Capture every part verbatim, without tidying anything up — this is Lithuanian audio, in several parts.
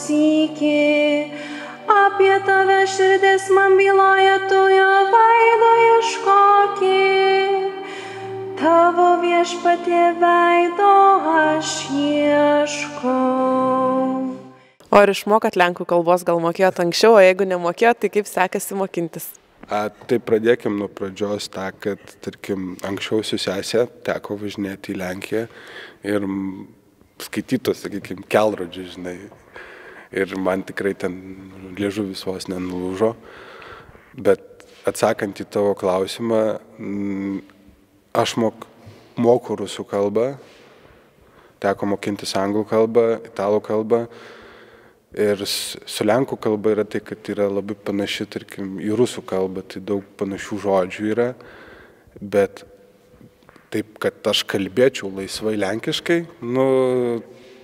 sykį, apie tave širdis man byloja, tu jo veido ieškoki. Tavo viešpatie veido aš ieškau. O ar išmokat lenkų kalbos, gal mokėjot anksčiau, o jeigu nemokėjot, tai kaip sekasi mokintis? A, tai pradėkim nuo pradžios tą, kad, tarkim, anksčiau su sesė teko važinėti į Lenkiją ir skaitytos, sakykime, kelrodžių, žinai. Ir man tikrai ten liežuvis vos nenulūžo. Bet atsakant į tavo klausimą, aš mok, moku rusų kalbą, teko mokintis anglų kalbą, italų kalbą. Ir su lenkų kalba yra tai, kad yra labai panaši, tarkim, į rusų kalbą, tai daug panašių žodžių yra, bet taip, kad aš kalbėčiau laisvai lenkiškai, nu,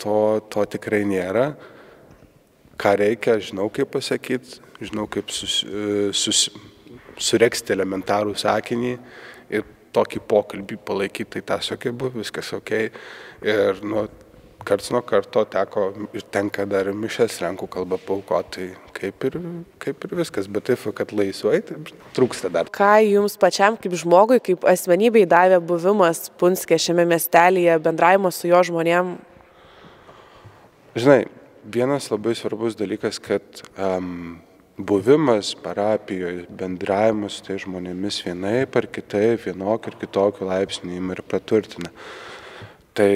to, to tikrai nėra. Ką reikia, žinau kaip pasakyti, žinau kaip sus, sus, sureksti elementarų sakinį ir tokį pokalbį palaikyti, tai tas ok, buvo viskas ok. Ir, nu, karts nuo karto teko ir tenka dar mišes lenkų kalbą paaukoti, tai kaip ir, kaip ir viskas, bet taip, kad laisvai, tai trūksta dar. Ką jums pačiam kaip žmogui, kaip asmenybei davė buvimas Punske šiame miestelyje, bendravimas su jo žmonėm? Žinai, vienas labai svarbus dalykas, kad um, buvimas parapijoje, bendravimas su tai žmonėmis vienaip ar kitaip, vienokį ir kitokį laipsnį ir praturtina. Tai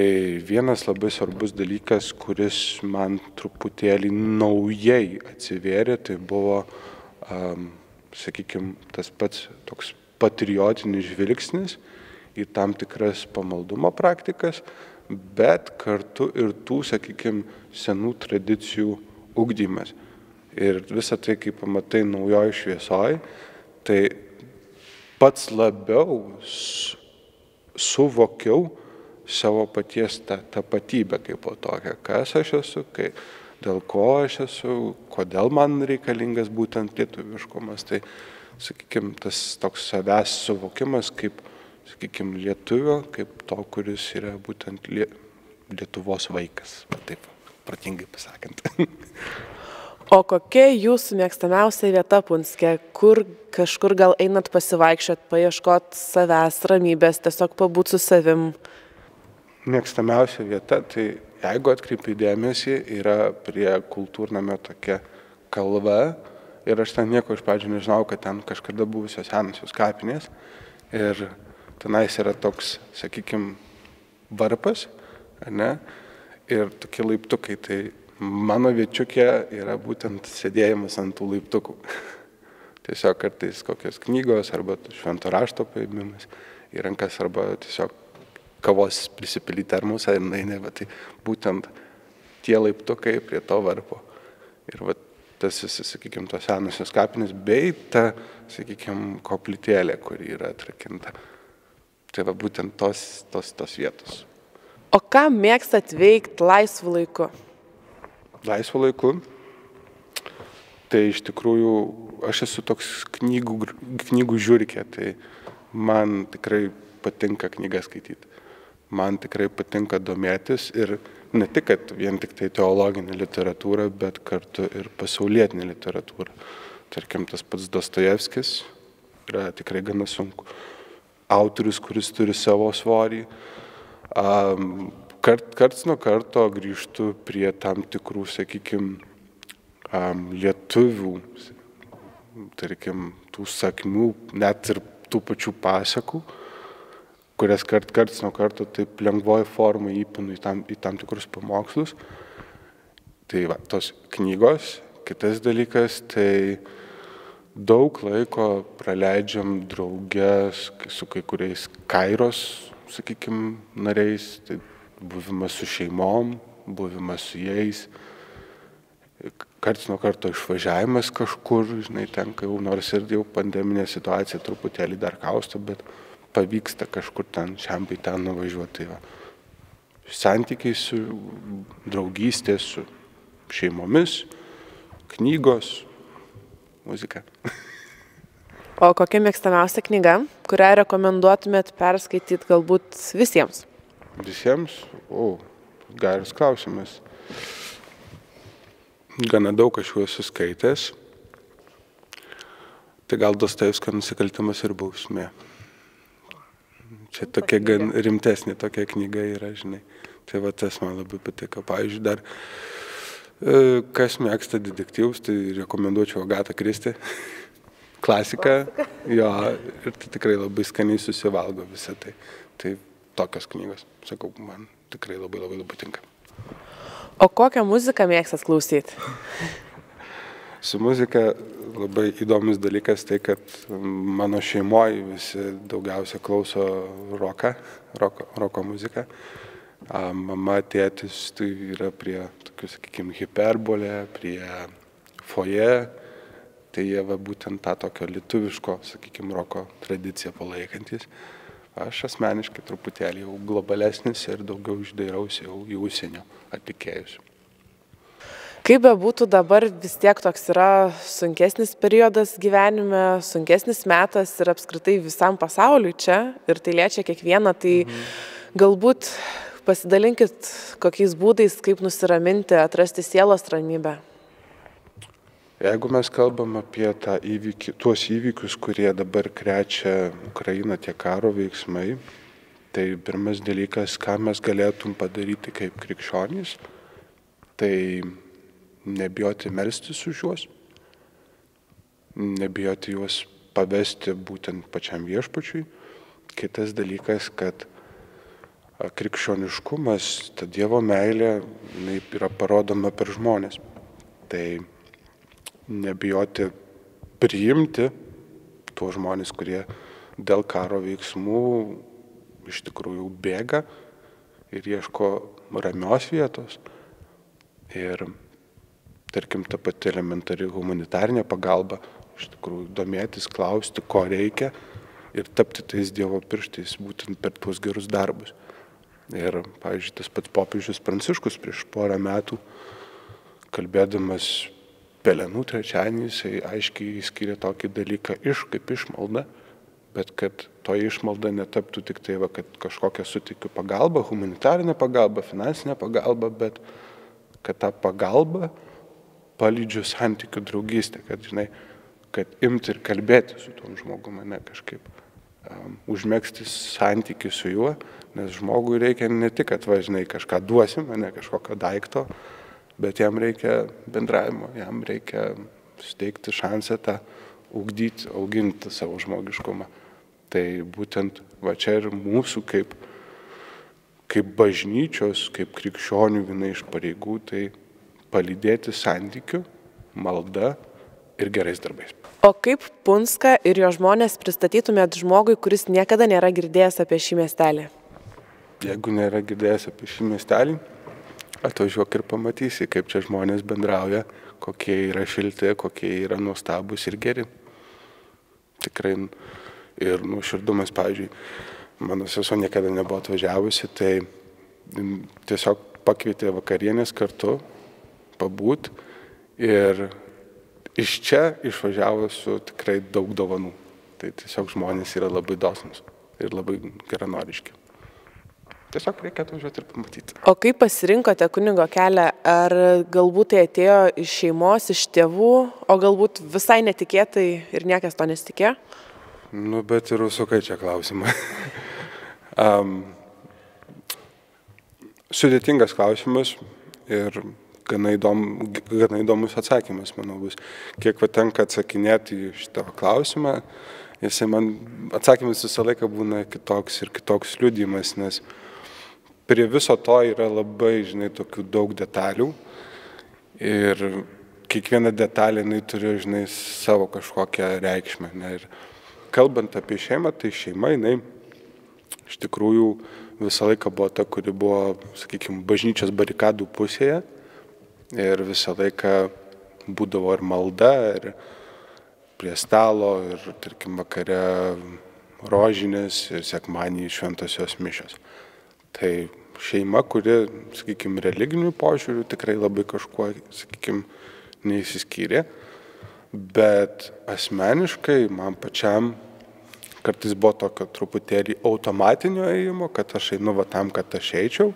vienas labai svarbus dalykas, kuris man truputėlį naujai atsivėrė, tai buvo, um, sakykime, tas pats toks patriotinis žvilgsnis į tam tikras pamaldumo praktikas, bet kartu ir tų, sakykime, senų tradicijų ugdymas. Ir visą tai, kai pamatai naujoj šviesoj, tai pats labiau suvokiau savo paties tą tapatybę kaip po tokią, kas aš esu, kai, dėl ko aš esu, kodėl man reikalingas būtent lietuviškumas. Tai, sakykime, tas toks savęs suvokimas kaip, sakykime, lietuvio, kaip to, kuris yra būtent lie, Lietuvos vaikas, taip, protingai pasakant. O kokia jūsų mėgstamiausia vieta Punske, kur kažkur gal einat pasivaikščiot, paieškot savęs, ramybės, tiesiog pabūt su savim? Mėgstamiausia vieta, tai jeigu atkreipi dėmesį, yra prie kultūrnamio tokia kalva ir aš ten nieko iš pradžių nežinau, kad ten kažkada buvusios senosios kapinės ir tenais yra toks, sakykime, varpas, ne, ir tokie laiptukai, tai mano viečiukė yra būtent sėdėjimas ant tų laiptukų. Tiesiog kartais kokios knygos arba švento rašto paėmimas į rankas arba tiesiog kavos prisipilį termusą ir nainė, bet tai būtent tie laiptukai prie to varpo. Ir va, tas, sakykime, tos senosios kapinės, bei ta, sakykime, koplytėlė, kuri yra atrakinta. Tai va, būtent tos, tos, tos vietos. O ką mėgstat veikti laisvu laiku? Laisvu laiku? Tai iš tikrųjų, aš esu toks knygų, knygų žiūrikė, tai man tikrai patinka knygas skaityti. Man tikrai patinka domėtis ir ne tik, kad vien tik tai teologinė literatūra, bet kartu ir pasaulietinė literatūra. Tarkim, tas pats Dostojevskis yra tikrai gana sunku. Autorius, kuris turi savo svorį. Kart, karts nuo karto grįžtu prie tam tikrų, sakykime, lietuvių, tarkim, tų sakmių, net ir tų pačių pasakų, kurias kart, karts nuo karto taip lengvoji forma įpinu į tam, į tam tikrus pamokslus. Tai va, tos knygos. Kitas dalykas, tai daug laiko praleidžiam draugės su kai kuriais kairos, sakykime, nariais. Tai buvimas su šeimom, buvimas su jais. Karts nuo karto išvažiavimas kažkur, žinai, tenka jau, nors ir jau pandeminė situacija truputėlį dar kausto, bet pavyksta kažkur ten, šiam bei ten nuvažiuoti. Tai santykiai su draugystė, su šeimomis, knygos, muzika. O kokia mėgstamiausia knyga, kurią rekomenduotumėt perskaityti galbūt visiems? Visiems? O, geras klausimas. Gana daug aš jų esu skaitęs. Tai gal Dostojevskio Nusikaltimas ir bausmė. Čia tokia gan rimtesnė tokia knyga yra, žinai. Tai va tas man labai patiko. Pavyzdžiui, dar kas mėgsta detektyvus, tai rekomenduočiau Agatą Kristi. Klasika. Jo, ir tai tikrai labai skaniai susivalgo visą tai. Tai tokios knygos, sakau, man tikrai labai labai labai tinka. O kokią muziką mėgstat klausyti? Su muzika labai įdomus dalykas tai, kad mano šeimoje visi daugiausia klauso roką, roko, roko muziką. Mama, tėtis tai yra prie tokių, sakykime, hiperbolė, prie foje. Tai jie va būtent tą tokio lietuviško, sakykime, roko tradiciją palaikantis. Aš asmeniškai truputėlį jau globalesnis ir daugiau išdairausi jau į užsienio atlikėjus. Kaip be būtų dabar vis tiek toks yra sunkesnis periodas gyvenime, sunkesnis metas ir apskritai visam pasauliui čia ir tai liečia kiekvieną, tai mhm. galbūt pasidalinkit kokiais būdais, kaip nusiraminti, atrasti sielos ramybę. Jeigu mes kalbam apie tą įvykį, tuos įvykius, kurie dabar krečia Ukrainą, tie karo veiksmai, tai pirmas dalykas, ką mes galėtum padaryti kaip krikščionys, tai nebijoti melstis už juos, nebijoti juos pavesti būtent pačiam viešpačiui. Kitas dalykas, kad krikščioniškumas, ta Dievo meilė, jinai yra parodoma per žmonės. Tai nebijoti priimti tuos žmonės, kurie dėl karo veiksmų iš tikrųjų bėga ir ieško ramios vietos. Ir, tarkim, ta pati elementari humanitarinė pagalba, iš tikrųjų domėtis, klausti, ko reikia ir tapti tais Dievo pirštais būtent per tuos gerus darbus. Ir, pavyzdžiui, tas pats popiežius Pranciškus prieš porą metų, kalbėdamas Pelenų trečiadienį, jisai aiškiai skiria tokį dalyką iš kaip išmalda, bet kad to išmalda netaptų tik tai, va, kad kažkokią sutikiu pagalbą, humanitarinę pagalbą, finansinę pagalbą, bet kad tą pagalbą palydžiu santykių draugystę, kad, žinai, kad imti ir kalbėti su tom žmogumi, ne kažkaip um, užmegzti santykį su juo, nes žmogui reikia ne tik, kad važinai kažką duosim, ne kažkokio daikto, bet jam reikia bendravimo, jam reikia suteikti šansą tą ugdyti, auginti savo žmogiškumą. Tai būtent va čia ir mūsų kaip, kaip bažnyčios, kaip krikščionių viena iš pareigų, tai palydėti santykių, malda ir gerais darbais. O kaip Punską ir jo žmonės pristatytumėt žmogui, kuris niekada nėra girdėjęs apie šį miestelį? Jeigu nėra girdėjęs apie šį miestelį, atvažiuok ir pamatysi, kaip čia žmonės bendrauja, kokie yra šilti, kokie yra nuostabus ir geri. Tikrai ir nuoširdumas, pavyzdžiui, mano sesuo niekada nebuvo atvažiavusi, tai tiesiog pakvietė vakarienės kartu, pabūt ir iš čia išvažiavo su tikrai daug dovanų. Tai tiesiog žmonės yra labai dosnūs ir labai geranoriški. Tiesiog reikia atvažiuoti ir pamatyti. O kaip pasirinkote kunigo kelią? Ar galbūt tai atėjo iš šeimos, iš tėvų, o galbūt visai netikėtai ir niekas to nesitikėjo? Nu, bet ir užsukai čia klausimą. um, sudėtingas klausimas ir gana, įdom, gana įdomus atsakymas, manau, bus. Kiek va tenka atsakinėti į šitą klausimą, jisai man atsakymas visą laiką būna kitoks ir kitoks liudijimas, nes prie viso to yra labai, žinai, tokių daug detalių ir kiekviena detalė, jinai turi, žinai, savo kažkokią reikšmę. Ne? Ir kalbant apie šeimą, tai šeima, jinai iš tikrųjų visą laiką buvo ta, kuri buvo, sakykime, bažnyčios barikadų pusėje ir visą laiką būdavo ir malda, ir prie stalo, ir, tarkim, vakare rožinės ir sekmadienį šventosios mišios. Tai šeima, kuri, sakykime, religinių požiūrių tikrai labai kažkuo, sakykime, neįsiskyrė, bet asmeniškai man pačiam kartais buvo tokio truputėlį automatinio ėjimo, kad aš einu va tam, kad aš eičiau,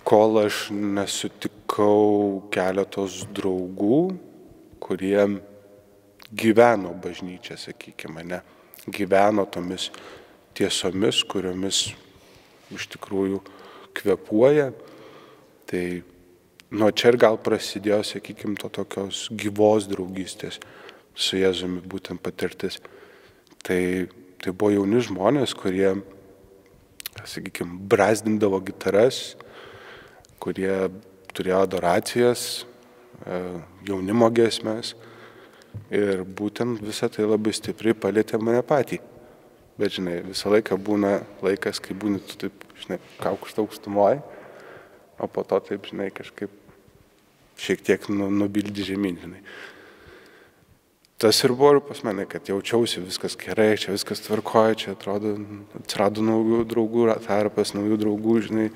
kol aš nesutikau keletos draugų, kurie gyveno bažnyčia, sakykime, ne, gyveno tomis tiesomis, kuriomis iš tikrųjų kvėpuoja. Tai nuo čia ir gal prasidėjo, sakykime, to tokios gyvos draugystės su Jėzumi būtent patirtis. Tai, tai buvo jauni žmonės, kurie, sakykime, brazdindavo gitaras, kurie turėjo adoracijas, jaunimo giesmes ir būtent visą tai labai stipriai palietė mane patį. Bet, žinai, visą laiką būna laikas, kai būni tu taip, žinai, kaukšta aukštumoje, o po to taip, žinai, kažkaip šiek tiek nubildi žemyn, žinai. Tas ir buvo pas mane, kad jaučiausi viskas gerai, čia viskas tvarkoja, čia atrodo, atsirado naujų draugų tarpas, naujų draugų, žinai,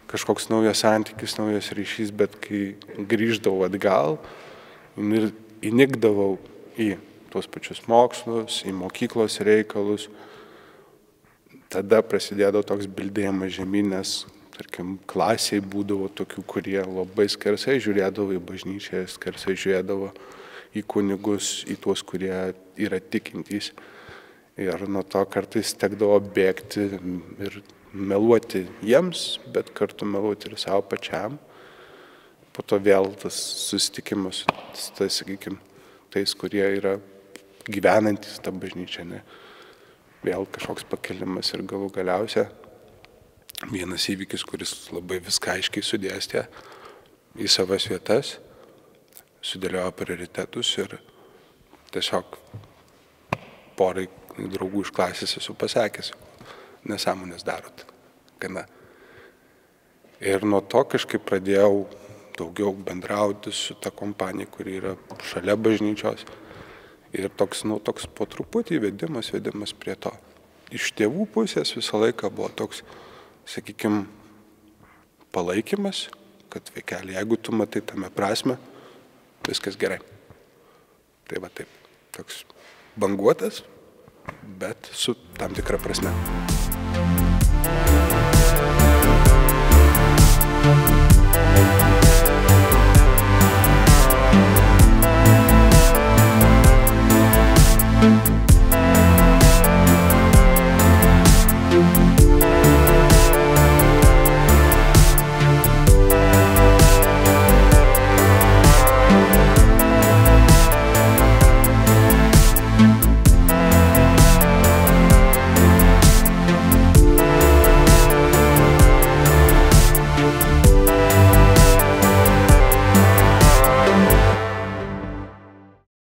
kažkoks naujas santykis, naujas ryšys, bet kai grįždavau atgal ir įnikdavau į tuos pačius mokslus, į mokyklos reikalus, tada prasidėdavo toks bildėjimas žemyn, nes, tarkim, klasiai būdavo tokių, kurie labai skersai žiūrėdavo į bažnyčią, skersai žiūrėdavo į kunigus, į tuos, kurie yra tikintys. Ir nuo to kartais tekdavo bėgti ir meluoti jiems, bet kartu meluoti ir savo pačiam. Po to vėl tas susitikimas, tas, sakykime, tais, kurie yra gyvenantys tą bažnyčią, ne? Vėl kažkoks pakelimas ir galų galiausia vienas įvykis, kuris labai viską aiškiai sudėstė į savas vietas, sudėliojo prioritetus ir tiesiog porai draugų iš klasės esu pasakęs, nesąmonės darot. Gana. Ir nuo to kažkaip pradėjau daugiau bendrauti su ta kompanija, kuri yra šalia bažnyčios. Ir toks, nu, toks po truputį vedimas, vedimas prie to. Iš tėvų pusės visą laiką buvo toks, sakykime, palaikymas, kad vaikeli, jeigu tu matai tame prasme, viskas gerai. Tai va taip, toks banguotas, bet su tam tikra prasme.